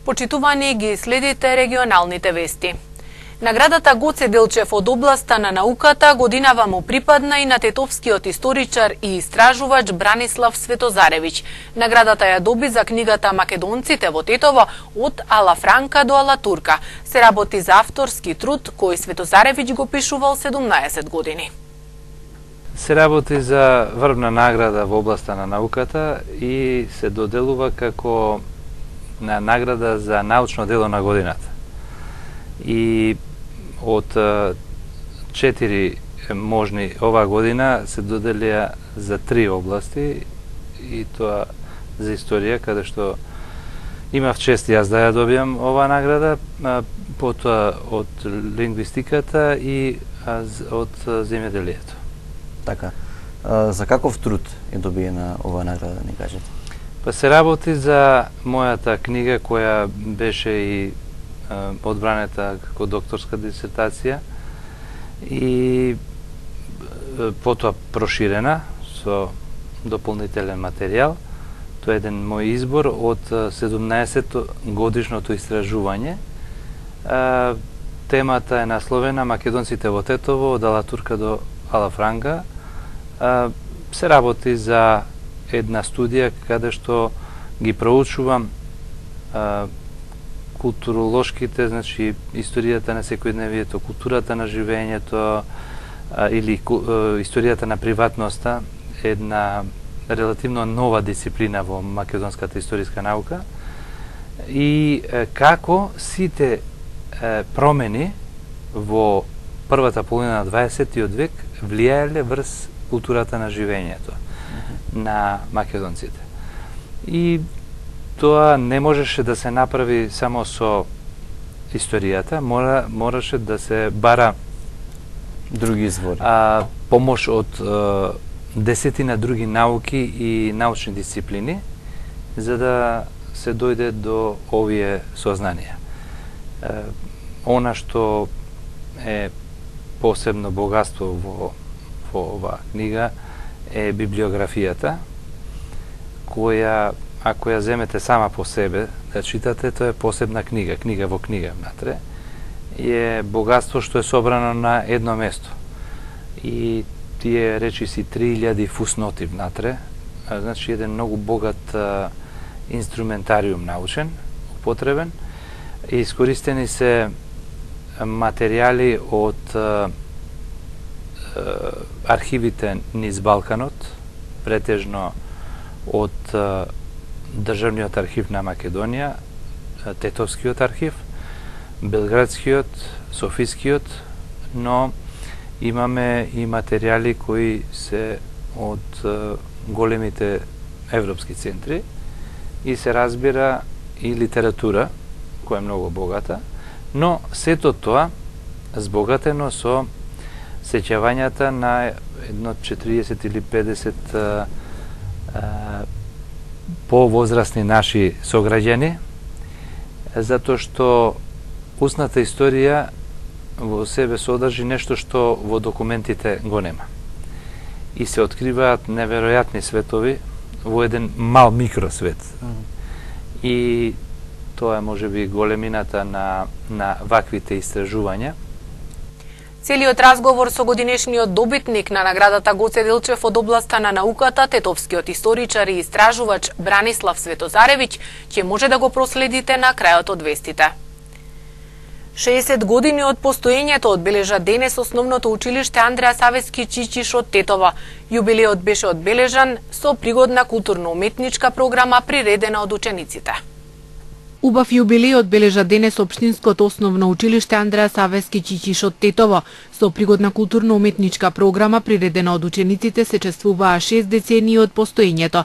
Почитувани ги следите регионалните вести. Наградата Гоце Делчев од областа на науката годинава му припадна и на тетовскиот историчар и истражувач Бранислав Светозаревиќ. Наградата ја доби за книгата Македонците во Тетово од Ала Франка до Ала Турка. Се работи за авторски труд кој Светозаревиќ го пишувал 17 години. Се работи за врвна награда во областа на науката и се доделува како награда за научно дело на годината. И од 4 можни оваа година се доделија за 3 области, и тоа за историја, каде што имав чест јас да ја добијам оваа награда, потоа од лингвистиката и од земјоделието. Така. За каков труд е добиена оваа награда, ни кажете? Па се работи за мојата книга која беше и одбранета како докторска дисертација и потоа проширена со дополнителен материјал. Тоа е еден мој избор од 17 годишното истражување. Темата е насловена Македонците во Тетово од Ала Турка до Ала Франка. Се работи за една студија каде што ги проучувам културолошките, значи историјата на секојдневието, културата на живењето или историјата на приватноста, една релативно нова дисциплина во македонската историска наука, и како сите промени во првата половина на 20 век влијаеле врз културата на живењето на македонците. И тоа не можеше да се направи само со историјата, мораше да се бара други извори. Помош од десетина други науки и научни дисциплини, за да се дојде до овие сознанија. Она што е посебно богатство во оваа книга е библиографијата, која, ако ја земете сама по себе да читате, тоа е посебна книга, книга во книга внатре, е богатство што е собрано на едно место. И тие речиси 3000 фусноти внатре, значи еден многу богат инструментариум научен, употребен, и искористени се материјали од архивите низ Балканот, претежно од Државниот архив на Македонија, Тетовскиот архив, Белградскиот, Софискиот, но имаме и материјали кои се од големите европски центри, и се разбира и литература, која е многу богата, но сето тоа збогатено со сеќавањата на едно 40 или 50 повозрасни наши сограѓани, затоа што устната историја во себе содржи нешто што во документите го нема. И се откриваат неверојатни светови во еден мал микросвет. И тоа е можеби големината на ваквите истражувања. Целиот разговор со годинешниот добитник на наградата Гоце Делчев од областа на науката, тетовскиот историчар и истражувач Бранислав Светозаревиќ, ќе може да го проследите на крајот од вестите. 60 години од постоењето одбележа денес основното училиште Андреа Савески Чичиш од Тетово. Јубилеот беше одбележан со пригодна културно-уметничка програма приредена од учениците. Убав јубилеј одбележа денес општинското основно училиште Андреа Савески Чичиш од Тетово. Со пригодна културно-уметничка програма приредена од учениците се чествуваа 6 децении од постоењето.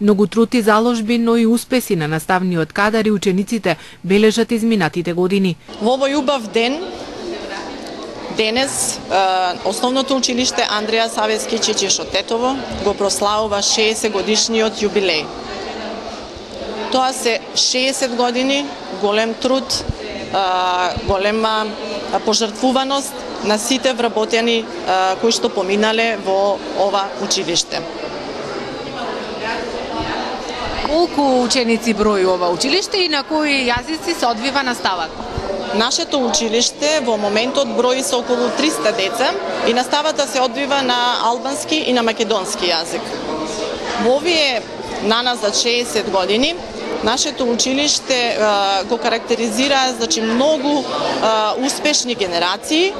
Многу труд и заложби, но и успеси на наставниот кадар и учениците бележат изминатите години. Во овој убав ден, денес, Основното училиште Андреја Савески Чичиш од Тетово го прославува 60 годишниот јубилеј. Тоа се 60 години, голем труд, голема пожртвуваност на сите вработени кои што поминале во ова училиште. Колку ученици брои ова училиште и на кои јазици се одвива наставата? Нашето училиште во моментот брои се околу 300 деца и наставата се одвива на албански и на македонски јазик. Во овие наназад 60 години нашето училиште го карактеризира многу успешни генерации,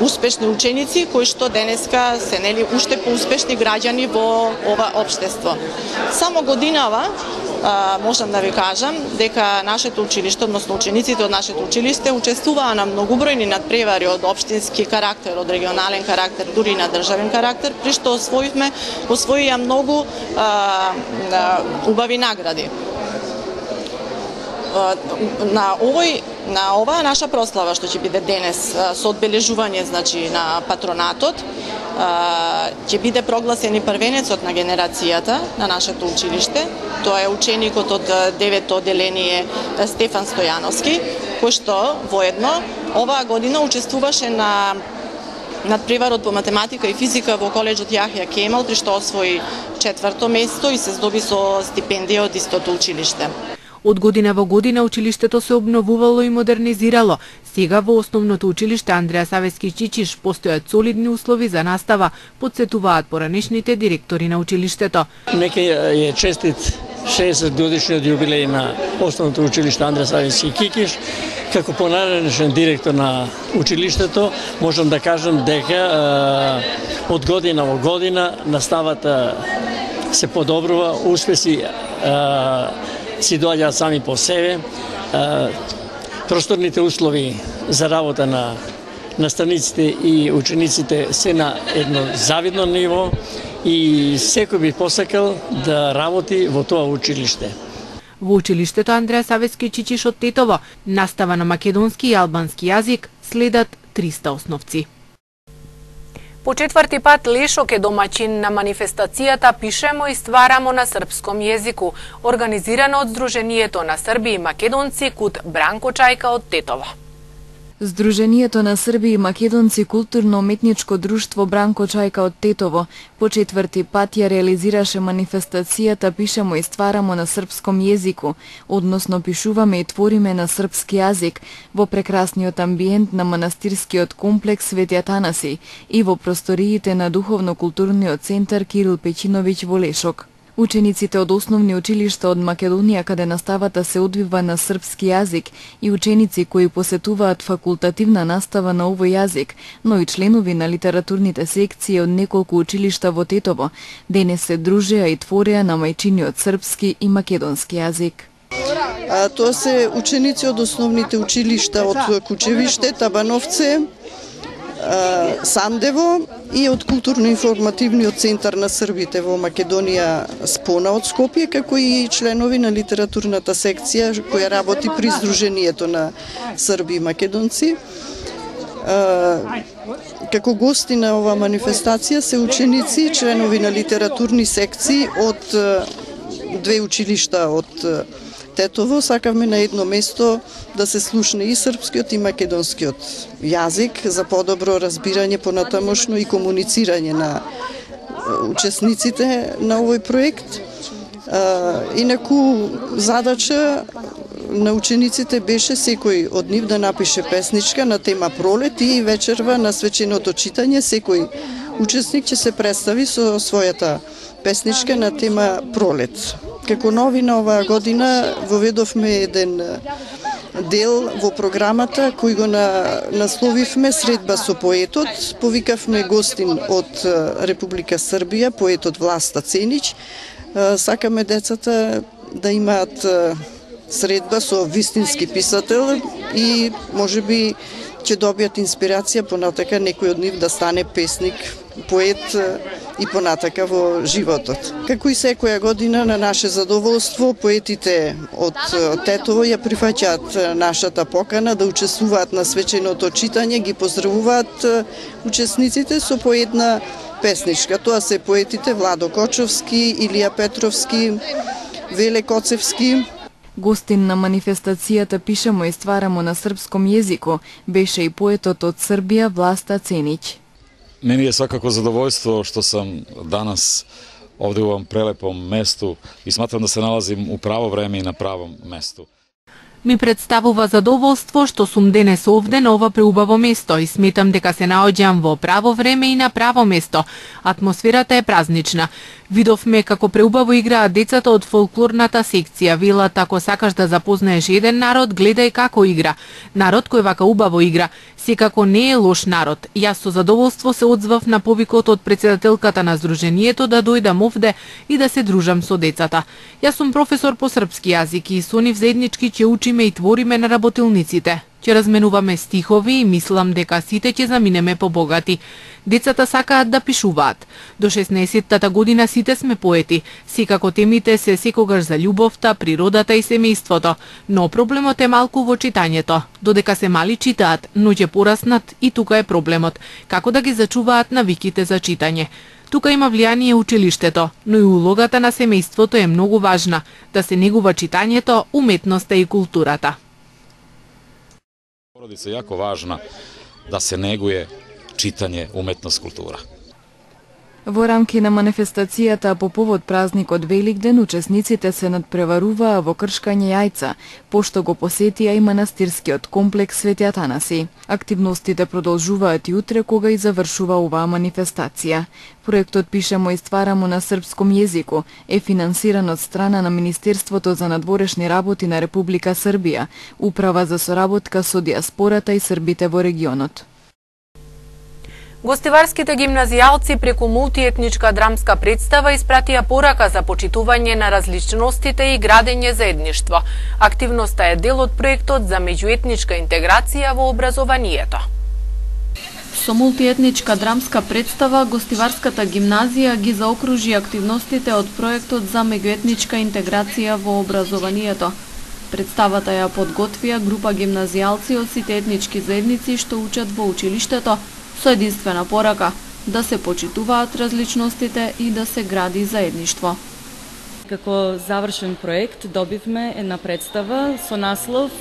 успешни ученици кои што денеска се уште поуспешни граѓани во ова општество. Само годинава можам да ви кажам дека нашето училиште, односно учениците од нашето училиште учествуваа на многубројни надпревари од општински карактер, од регионален карактер, дури и на државен карактер, при што освоија многу убави награди. На оваа наша прослава што ќе биде денес со одбележување на патронатот, ќе биде прогласен и првенецот на генерацијата на нашето училиште. Тоа е ученикот од 9-то одделение Стефан Стојановски, кој што воедно оваа година учествуваше на надпреварот по математика и физика во коледжот Јахја Кемал, при што освои 4-то место и се здоби со стипендија од истото училиште. Од година во година училиштето се обновувало и модернизирало. Сега во Основното училиште Андреја Савески Чичиш постојат солидни услови за настава, потсетуваат поранешните директори на училиштето. Нека е честит 60 годишниот јубилеј на Основното училиште Андреја Савески Чичиш. Како понареден директор на училиштето, можам да кажам дека од година во година наставата се подобрува, успеси си доаѓаат сами по себе. Просторните услови за работа на наставниците и учениците се на едно завидно ниво и секој би посакал да работи во тоа училиште. Во училиштето Андреја Савески Чичиш од Тетово настава на македонски и албански јазик следат 300 основци. По четврти пат Лешок е домаќин на манифестацијата Пишемо и стварамо на српском језику, организирана од Сдруженијето на срби и македонци кут Бранко Чајка од Тетово. Сдруженијето на срби и македонци културно-уметничко друштво Бранко Чајка од Тетово по четврти пат ја реализираше манифестацијата Пишемо и стварамо на српском језику, односно пишуваме и твориме на српски јазик во прекрасниот амбиент на манастирскиот комплекс Свети Атанаси и во просториите на духовно-културниот центар Кирил Печиновиќ во Лешок. Учениците од основни училишта од Македонија каде наставата се одвива на српски јазик и ученици кои посетуваат факултативна настава на овој јазик, но и членови на литературните секции од неколку училишта во Тетово, денес се дружеа и твореа на мајчиниот српски и македонски јазик. Тоа се ученици од основните училишта од Кучевиште, Табановце, Сандево и од културно-информативниот центар на србите во Македонија Спона од Скопје, како и членови на литературната секција која работи при Сдруженијето на срби и македонци. Како гости на ова манифестација се ученици и членови на литературни секции од две училишта од Тетово. Сакавме на едно место да се слушне и српскиот и македонскиот јазик за подобро разбирање понатамошно и комуницирање на учесниците на овој проект. Инаку задача на учениците беше секој од нив да напише песничка на тема пролет и вечерва на свеченото читање секој учесник ќе се представи со својата песничка на тема пролет. Како новина оваа година воведовме еден дел во програмата кој го насловивме Средба со поетот. Повикавме гостин од Република Србија, поетот Власта Ценич. Сакаме децата да имаат средба со вистински писател и можеби ќе добијат инспирација понатака некој од нив да стане песник, поет и понатака во животот. Како и секоја година на наше задоволство, поетите од Тетово ја прифаќаат нашата покана да учествуваат на свеченото читање, ги поздравуваат учесниците со по една песничка. Тоа се поетите Владо Кочовски, Илија Петровски, Веле Коцевски. Гостин на манифестацијата Пишемо и стварамо на српском језику беше и поетот од Србија Власта Ценич. Мени е свакако задоволство што сам данас овде у овом прелепом месту и сматрам да се налазим у право време и на правом месту. Ми представува задоволство што сум денес овде на ова преубаво место и сметам дека се наоѓам во право време и на право место. Атмосферата е празнична. Видовме како преубаво играат децата од фолклорната секција. Велат, ако сакаш да запознаеш еден народ, гледај како игра. Народ кој вака убаво игра, секако не е лош народ. Јас со задоволство се одзвав на повикот од претседателката на Сдруженијето да дојдам овде и да се дружам со децата. Јас сум професор по српски јазик и со нив заеднички ќе учиме и твориме на работилниците. Ќе разменуваме стихови и мислам дека сите ќе заминеме побогати. Децата сакаат да пишуваат. До 16-тата година сите сме поети. Секако темите се секогаш за љубовта, природата и семејството, но проблемот е малку во читањето. Додека се мали читаат, но ќе пораснат и тука е проблемот. Како да ги зачуваат навиките за читање? Тука има влијание училиштето, но и улогата на семејството е многу важна, да се негува читањето, уметноста и културата. Породица е јако важна да се негуе читање, уметност, култура. Во рамки на манифестацијата по повод празникот Великден, учесниците се надпреваруваа во кршкање јајца, пошто го посетија и манастирскиот комплекс Свети Атанаси. Активностите продолжуваат и утре кога и завршува оваа манифестација. Проектот Пишемо и стварамо на српском језику е финансиран од страна на Министерството за надворешни работи на Република Србија, Управа за соработка со диаспората и србите во регионот. Гостиварските гимназијалци преку мултиетничка драмска представа испратија порака за почитување на различностите и градење заедништво. Активноста е дел од проектот за меѓуетничка интеграција во образованието. Со мултиетничка драмска представа, Гостиварската гимназија ги заокружи активностите од проектот за меѓуетничка интеграција во образованието. Представата ја подготвија група гимназијалци од сите етнички заедници што учат во училиштето, со единствена порака да се почитуваат различностите и да се гради заедништво. Како завршен проект добивме една представа со наслов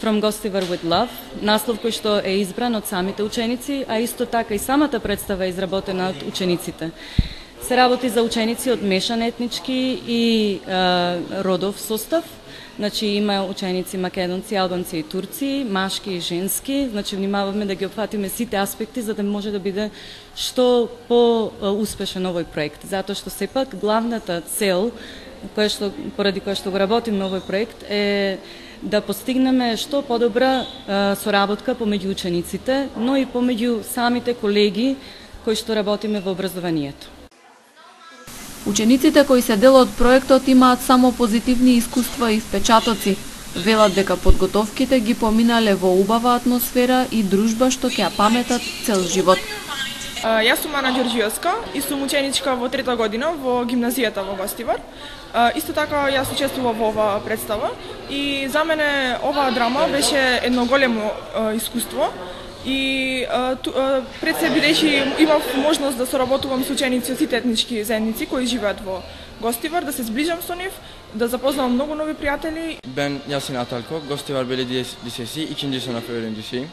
From Gostivar with Love, наслов кој што е избран од самите ученици, а исто така и самата представа е изработена од учениците. Се работи за ученици од мешан етнички и родов состав. Значи има ученици македонци, албанци и турци, машки и женски. Значи внимаваме да ги опфатиме сите аспекти за да може да биде што по-успешен овој проект. Затоа што сепак главната цел поради која што го работиме овој проект е да постигнеме што подобра соработка помеѓу учениците, но и помеѓу самите колеги кои што работиме во образованието. Учениците кои се дел од проектот имаат само позитивни искуства и впечатоци. Велат дека подготовките ги поминале во убава атмосфера и дружба што ќе ја паметат цел живот. Јас сум Ана Ѓорѓиевска и сум ученичка во 3-та година во гимназијата во Гостивар. Исто така јас учествував во оваа представа и за мене оваа драма беше едно големо искуство. И пред се бидејќи имав можност да соработувам со ученици од сите етнички заедници кои живеат во Гостивар, да се зближам со нив, да запознавам многу нови пријатели. Ben Yasin Atalko, Gostivar Belediye Lisesi 2. sınıf öğrencisiyim.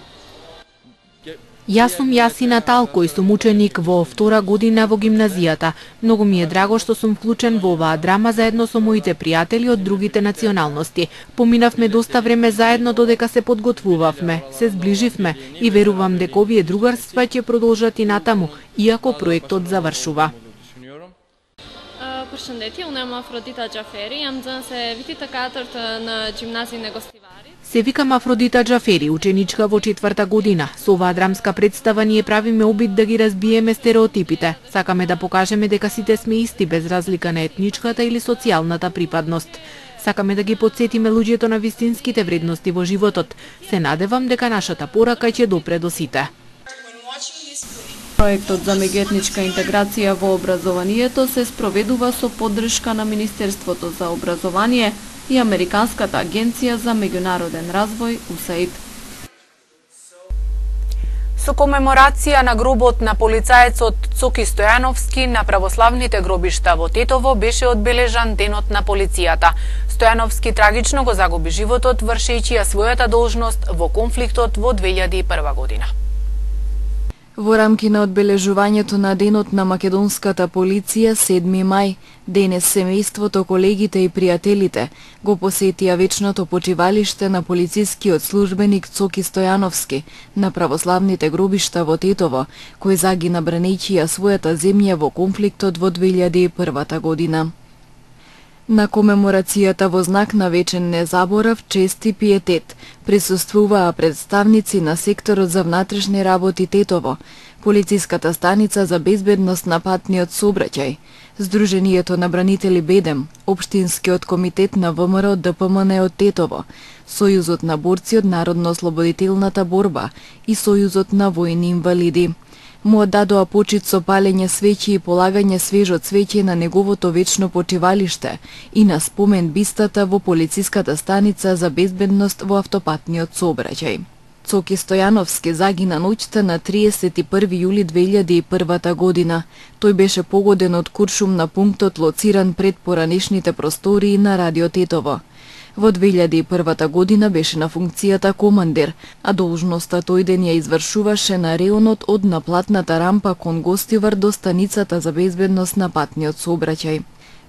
Јас сум Јасина Талко и сум ученик во 2 година во гимназијата. Многу ми е драго што сум вклучен во оваа драма заедно со моите пријатели од другите националности. Поминавме доста време заедно додека се подготвувавме, се зближивме и верувам дека овие другарства ќе продолжат и натаму, иако проектот завршува. Përshëndetje, unë jam Afrodita Gjaferi, jam nxënëse viti të 4 në gjimnazinë e Gostivarit. Се викам Афродита Джафери, ученичка во 4-та година. Со оваа драмска представа ние правиме обид да ги разбиеме стереотипите. Сакаме да покажеме дека сите сме исти без разлика на етничката или социјалната припадност. Сакаме да ги потсетиме луѓето на вистинските вредности во животот. Се надевам дека нашата порака ќе допре до сите. Проектот за меѓуетничка интеграција во образованието се спроведува со поддршка на Министерството за образование и Американската агенција за меѓународен развој USAID. Со комеморација на гробот на полицаецот Цоки Стојановски на православните гробишта во Тетово беше одбележан Денот на полицијата. Стојановски трагично го загуби животот вршејќи ја својата должност во конфликтот во 2001 година. Во рамки на одбележувањето на Денот на македонската полиција 7 мај, денес семејството, колегите и пријателите го посетија вечното почивалиште на полицискиот службеник Цоки Стојановски на православните гробишта во Тетово, кој загина бранејќи ја својата земја во конфликтот во 2001 година. На комеморацијата во знак на вечен незаборав, чест и пиетет присуствуваа представници на секторот за внатрешни работи Тетово, полициската станица за безбедност на патниот сообраќај, Сдруженијето на бранители Бедем, Општинскиот комитет на ВМРО ДПМН од Тетово, Сојузот на борци од Народно-ослободителната борба и Сојузот на војни инвалиди. Му оддадоа почит со палење свеќи и полагање свежо цвеќе на неговото вечно почивалиште и на спомен бистата во полициската станица за безбедност во автопатниот сообраќај. Цоки Стојановски загина ноќта на 31 јули 2001 година. Тој беше погоден од куршум на пунктот лоциран пред поранешните простории на Радио Тетово. Во 2001 година беше на функцијата командир, а должноста тој ден ја извршуваше на реонот од наплатната рампа кон Гостивар до станицата за безбедност на патниот сообраќај.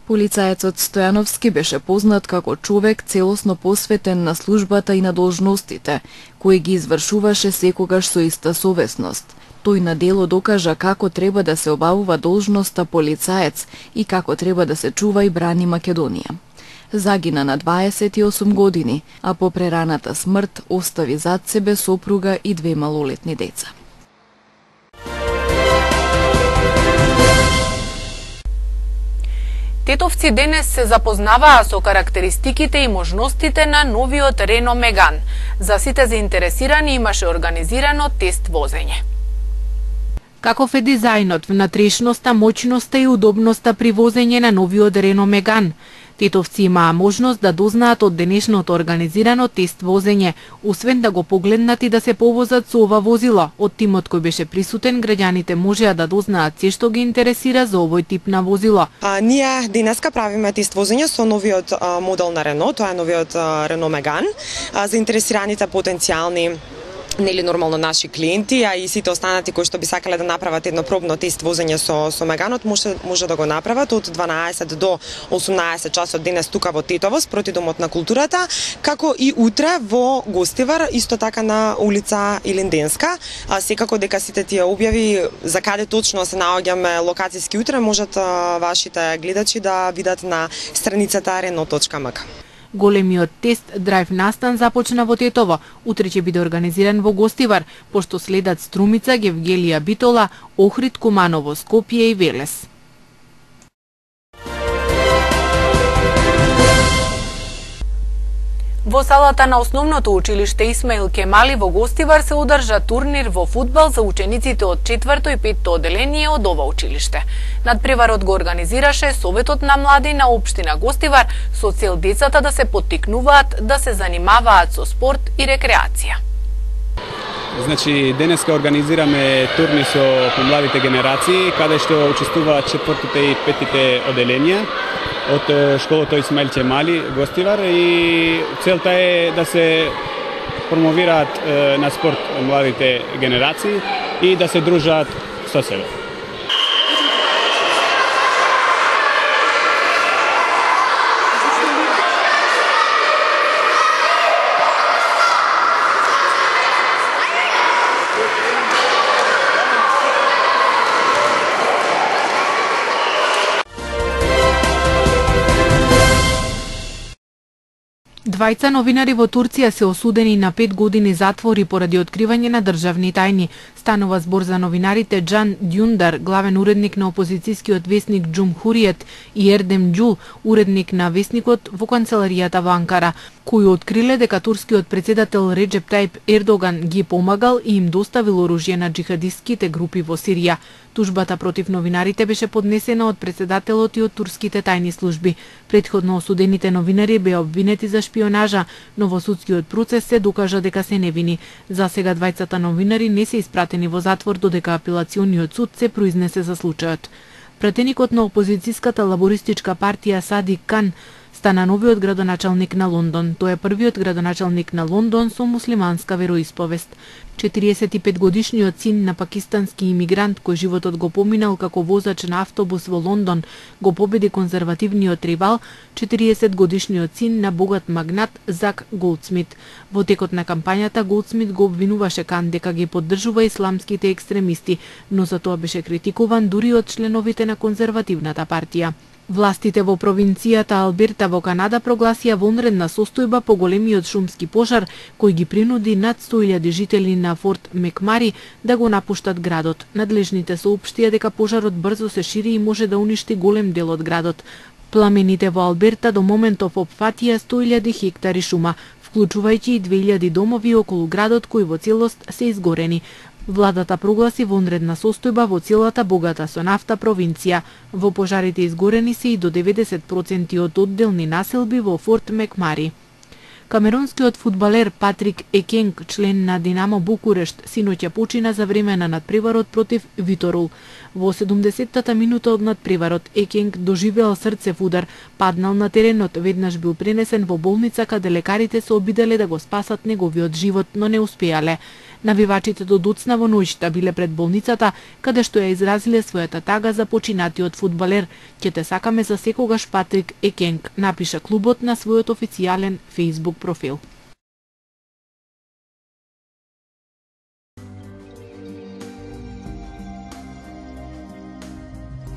Полицаецот Стојановски беше познат како човек целосно посветен на службата и на должностите, кои ги извршуваше секогаш со иста совесност. Тој на дело докажа како треба да се обавува должноста полицаец и како треба да се чува и брани Македонија. Загина на 28 години, а по прераната смрт остави зад себе сопруга и 2 малолетни деца. Тетовци денес се запознаваа со карактеристиките и можностите на новиот Рено Меган. За сите заинтересирани имаше организирано тест возење. Каков е дизајнот, внатрешноста, моќноста и удобноста при возење на новиот Рено Меган? Тетовци имаа можност да дознаат од денешното организирано тест возење, освен да го погледнат и да се повозат со ова возило. Од тимот кој беше присутен, граѓаните можеа да дознаат се што ги интересира за овој тип на возило. Ние денеска правиме тест возење со новиот модел на Рено, тоа е новиот Рено Меган. Заинтересираните потенцијални нормално наши клиенти, а и сите останати кои што би сакале да направат едно пробно тест возење со Меганот, може да го направат од 12 до 18 часот денес тука во Тетово, спроти Домот на културата, како и утре во Гостивар, исто така на улица Илинденска. Секако дека сите тие објави за каде точно се наоѓаме локацијски утре, можат вашите гледачи да видат на страницата reno.mk. Големиот тест драйв настан започна во Тетово. Утре ќе биде организиран во Гостивар, пошто следат Струмица, Гевгелија Битола, Охрид, Куманово, Скопје и Велес. Во салата на основното училиште Исмаил Кемали во Гостивар се одржа турнир во фудбал за учениците од 4-то и 5-то оделение од ова училиште. Надпреварот го организираше Советот на млади на општина Гостивар со цел децата да се поттикнуваат да се занимаваат со спорт и рекреација. Значи, денеска организираме турнир со помладите генерации, каде што учествуваат 4-тите и 5-тите оделенија од школата Исмаил Кемали Гостивар, и целта е да се промовираат на спорт младите генерации и да се дружат со себе. Двајца новинари во Турција се осудени на 5 години затвор и поради откривање на државни тајни. Станува збор за новинарите Джан Дюндар, главен уредник на опозицијскиот весник Џумхуриет, и Ердем Џул, уредник на весникот во канцеларијата во Анкара, кои откриле дека турскиот председател Реджеп Тајип Ердоган ги помагал и им доставил оружје на џихадистките групи во Сирија. Тужбата против новинарите беше поднесена од председателот и од турските тајни служби. Претходно осудените новинари беа обвинети за шпионажа, но во судскиот процес се докажа дека се невини. За сега двајцата новинари не се испратени во затвор додека апелациониот суд се произнесе за случајот. Пратеникот на опозицијската лабористичка партија Садик Кан стана новиот градоначалник на Лондон. Тој е првиот градоначалник на Лондон со муслиманска вероисповест. 45-годишниот син на пакистански имигрант кој животот го поминал како возач на автобус во Лондон го победи конзервативниот ривал, 40-годишниот син на богат магнат Зак Голдсмит. Во текот на кампањата Голдсмит го обвинуваше Кан дека ги поддржува исламските екстремисти, но за тоа беше критикуван дури од членовите на конзервативната партија. Властите во провинцијата Алберта во Канада прогласија вонредна состојба по големиот шумски пожар кој ги принуди над 100.000 жители на Форт Мекмари да го напуштат градот. Надлежните соопштија дека пожарот брзо се шири и може да уништи голем дел од градот. Пламените во Алберта до моментов опфатија 100.000 хектари шума, вклучувајќи и 2.000 домови околу градот кои во целост се изгорени. Владата прогласи вонредна состојба во целата богата со нафта провинција. Во пожарите изгорени се и до 90% од одделни населби во Форт Мекмари. Камеронскиот фудбалер Патрик Екенг, член на Динамо Букурешт, синоќа почина за време на надпреварот против Виторул. Во 70-та минута од надпреварот Екенг доживеал срцев удар, паднал на теренот, веднаш бил пренесен во болница каде лекарите се обиделе да го спасат неговиот живот, но не успеале. Навивачите до доцна во ноќта биле пред болницата, каде што ја изразиле својата тага за починатиот фудбалер. Ќе те сакаме за секогаш, Патрик Екенг, напиша клубот на својот официјален Facebook профил.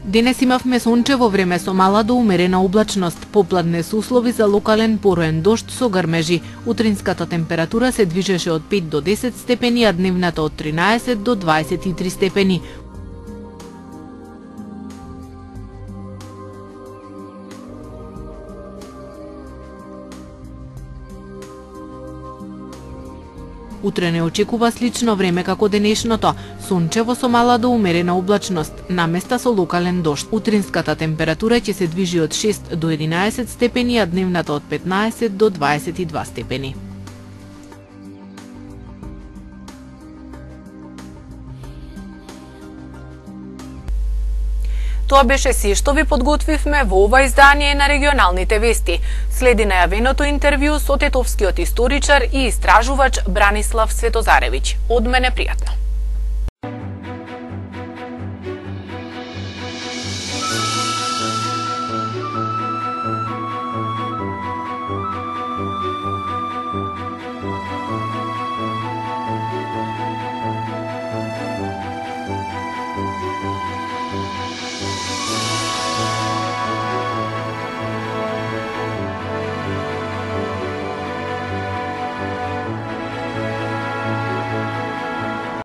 Денес имавме сончево време со мала до умерена облачност, попладне се услови за локален пороен дожд со грмежи. Утринската температура се движеше од 5 до 10 степени, а дневната од 13 до 23 степени. Утре не очекува слично време како денешното, сончево со мала до умерена облачност, наместа со локален дожд. Утринската температура ќе се движи од 6 до 11 степени, а дневната од 15 до 22 степени. Тоа беше се што ви подготвивме во ова издание на регионалните вести. Следи најавеното интервју со тетовскиот историчар и истражувач Бранислав Светозаревиќ. Од мене пријатно.